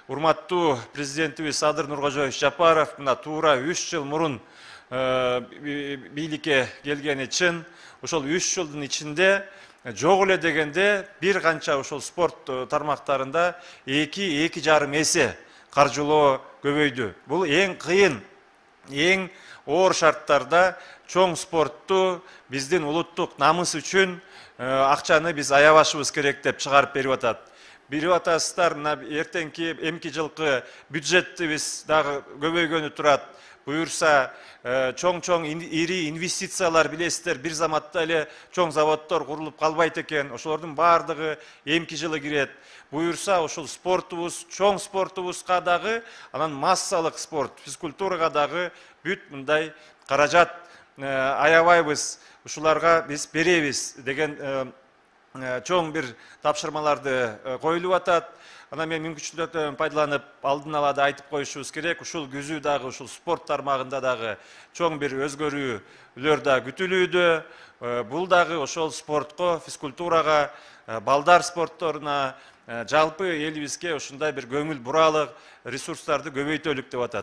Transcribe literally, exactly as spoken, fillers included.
урматтуу президентибиз Садыр Нуркожоевич Жапаров мына туура үч жыл мурун бийликке келгени чын. Ошол үч жылдын ичинде жок эле дегенде бир канча ошол спорт тармактарында эки эки жарым эсе каржылоо көбөйдү. Бул эң кыйын, эң оор шарттарда чоң спортту биздин улуттук намыс үчүн акчаны биз аябашыбыз керек деп чыгарып берип атат. Билип атасыздар, мына эртеңки эмки жылкы бюджетибиз дагы көбөйгөнү турат. Буюрса чоң-чоң ири инвестициялар билесиздер, бир заматта эле чоң заводдор курулуп калбайт экен. Ошолордун баардыгы эмки жылы кирет. Буюрса ошол спортубуз, чоң спортубузга дагы, анан массалык спорт, физкультурага дагы бүт мындай каражат аябайбыз. Ушуларга биз беребиз деген чоң бир тапшырмаларды коюлуп атат. Анан мен мүмкүнчүлүктөрдөн пайдаланып алдын ала да айтып коюшубуз керек. Ушул күзү дагы ушул спорт тармагында дагы чоң бир өзгөрүүлөр да күтүлүүдө. Бул дагы ошол спортко, физкультурага, балдар спортторуна жалпы элибизге ушундай бир көңүл буралык ресурстарды көбөйтөлүк деп атат.